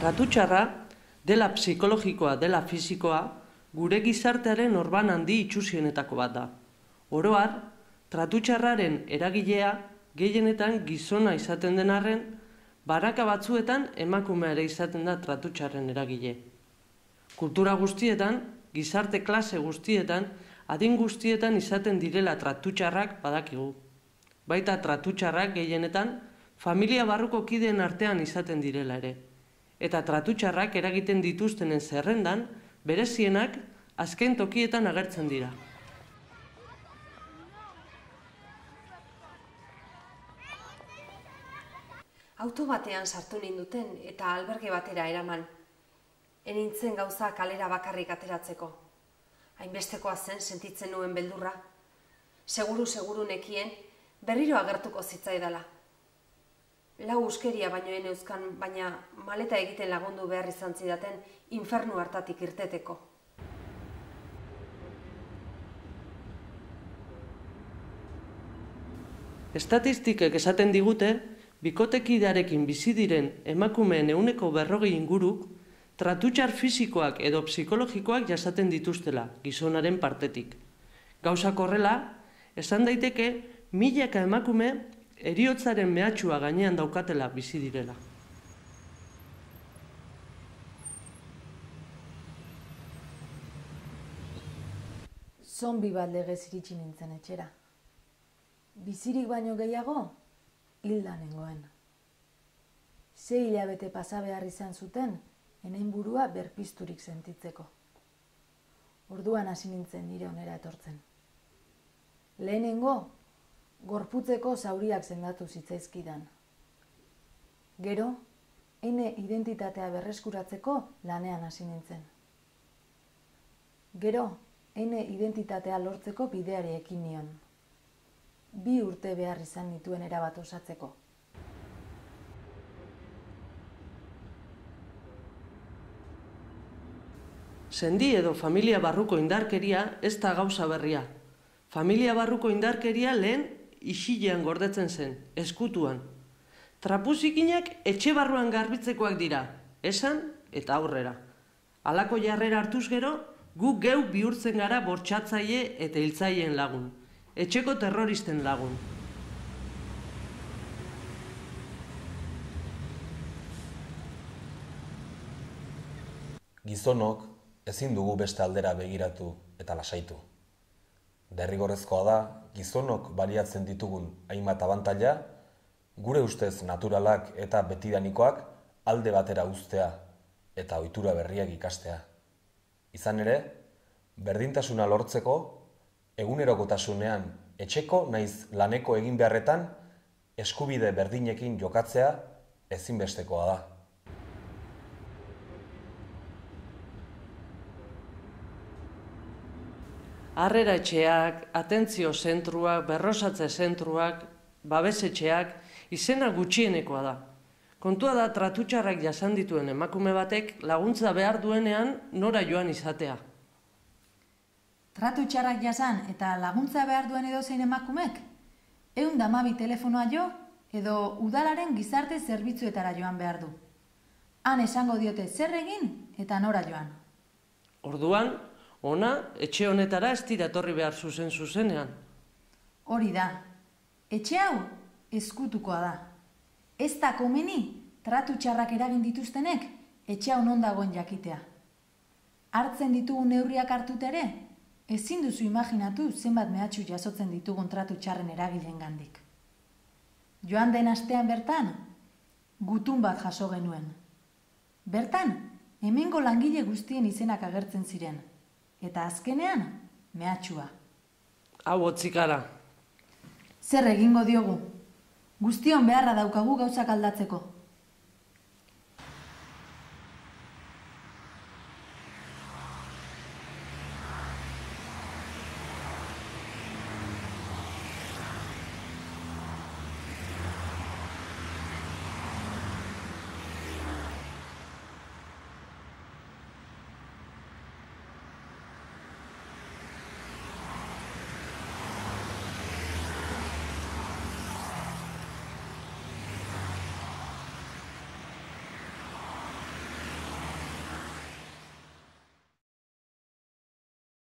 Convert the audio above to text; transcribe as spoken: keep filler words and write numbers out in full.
Tratu txarra, dela psikologikoa, dela fisikoa, gure gizartearen orban handi itxusienetako bat da. Oro har, tratu txarraren eragilea gehienetan gizona izaten den arren, baraka batzuetan emakumea ere izaten da tratu txarren eragile. Kultura guztietan, gizarte klase guztietan, adin guztietan izaten direla tratu txarrak badakigu. Baita tratu txarrak gehienetan, familia barruko kideen artean izaten direla ere. Eta tratu txarrak eragiten dituztenen zerrendan, berezienak azken tokietan agertzen dira. Auto batean sartu ninduten eta alberge batera eraman. Enintzen gauza kalera bakarrik ateratzeko. Hainbestekoa zen sentitzen nuen beldurra. Seguru-seguru nekien berriro agertuko zitzaidala. Lau uskeria baino eneuzkan, baina maleta egiten lagundu behar izan zidaten infernu hartatik irteteko. Estatistikek esaten digute, bikotekidearekin bizi diren emakumeen ehuneko berrogei inguruk, tratutxar fisikoak edo psikologikoak jasaten dituztela gizonaren partetik. Gauzak horrela, esan daiteke milaka emakume heriotzaren mehatxua gainean daukatela bizi direla. Zonbi bat legez iritsi nintzen etxera. Bizirik baino gehiago, hilda nengoen. Sei hilabete pasa behar izan zuten, enen burua berpizturik sentitzeko. Orduan hasi nintzen nire onera etortzen. Lehenengo, gorputzeko zauriak sendatu zitzaizkidan. Gero, ene identitatea berreskuratzeko lanean hasi nintzen. Gero, ene identitatea lortzeko bideari ekin nion. Bi urte behar izan nituen erabat osatzeko. Sendi edo familia barruko indarkeria ez da gauza berria. Familia barruko indarkeria lehen isilean gordetzen zen, eskutuan. Trapuzikinak etxe barruan garbitzekoak dira, esan eta aurrera. Halako jarrera hartuz gero, gu geu bihurtzen gara bortxatzaile eta hiltzaileen lagun, etxeko terroristen lagun. Gizonok ezin dugu beste aldera begiratu eta lasaitu. Derrigorrezkoa da, gizonok baliatzen ditugun hainbat abantaila, gure ustez naturalak eta betidanikoak alde batera uztea eta ohitura berriak ikastea. Izan ere, berdintasuna lortzeko, egunerokotasunean etxeko naiz laneko egin beharretan eskubide berdinekin jokatzea ezinbestekoa da. Harrera etxeak, atentzio zentruak, berrosatze zentruak, babesetxeak, izena gutxienekoa da. Kontua da tratutxarrak jasan dituen emakume batek laguntza behar duenean nora joan izatea. Tratutxarrak jasan eta laguntza behar duen edozein emakumek? Ehun eta hamabi telefonoa jo edo udalaren gizarte zerbitzuetara joan behar du. Han esango diote zer egin eta nora joan. Orduan, ona, etxe honetara ez dira etorri behar zuzen zuzenean. Hori da. Etxe hau ezkutukoa da. Ez da komeni tratu txarrak eragin dituztenek etxe hau non dagoen jakitea. Hartzen ditugun neurriak hartut ere, ezin duzu imaginatu zenbat mehatxu jasotzen ditugun tratu txarren eragileen gandik. Joan den astean bertan, gutun bat jaso genuen. Bertan, hemengo langile guztien izenak agertzen ziren. Eta azkenean, mehatxua. Hau hotzikara. Zer egingo diogu? Guztion beharra daukagu gauzak aldatzeko.